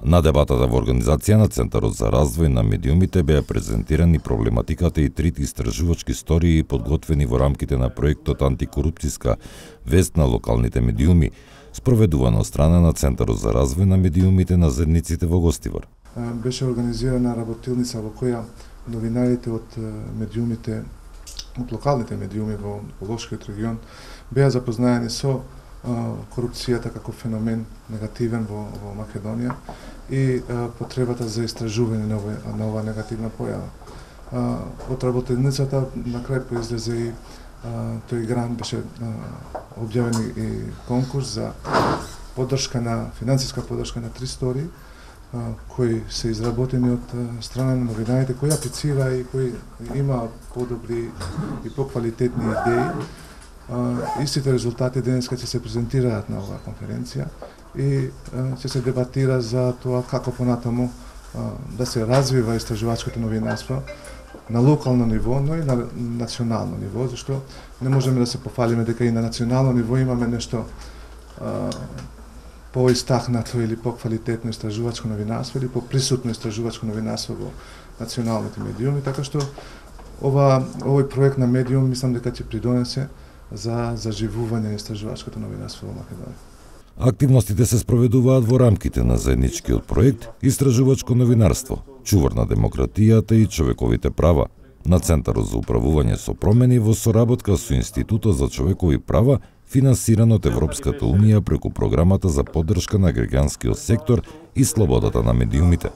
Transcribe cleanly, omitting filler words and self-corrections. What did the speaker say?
На дебатата во организација на Центарот за развој на медиумите беа презентирани проблематиката и трите истражувачки истории подготвени во рамките на проектот Антикорупцијска вест на локалните медиуми, спроведувано од страна на Центарот за развој на медиумите на Зедниците во Гостивар. Беше организирана работилница во која новинарите од медиумите, од локалните медиуми во Лошкиот регион беа запознаени со корупцијата како феномен негативен во Македонија и потребата за истражување на ова негативна појава. Од работилницата на крај произлезе и тој грант, беше објавен и конкурс за поддршка на финансиска поддршка на 3 истории кои се изработени од страна на новинарите кои аплицира и кои има подобри и поквалитетни идеи. Истите резултати денеска ќе се презентираат на оваа конференција и ќе се дебатира за тоа како понатаму да се развива истражувачкото новинарство на локално ниво, но и на национално ниво, зашто не можеме да се пофалиме дека и на национално ниво имаме нешто поистакнато или поквалитетно истражувачко новинарство или поприсутно истражувачко новинарство во националните медиуми, така што овој проект на медиум мислам дека ќе придонесе за заживување на истражувачкото новинарство во Македонија. Активностите се спроведуваат во рамките на заедничкиот проект Истражувачко новинарство, чувар на демократијата и човековите права, на Центарот за управување со промени во соработка со Институтот за човекови права, финансиран од Европската унија преку програмата за поддршка на граѓанскиот сектор и слободата на медиумите.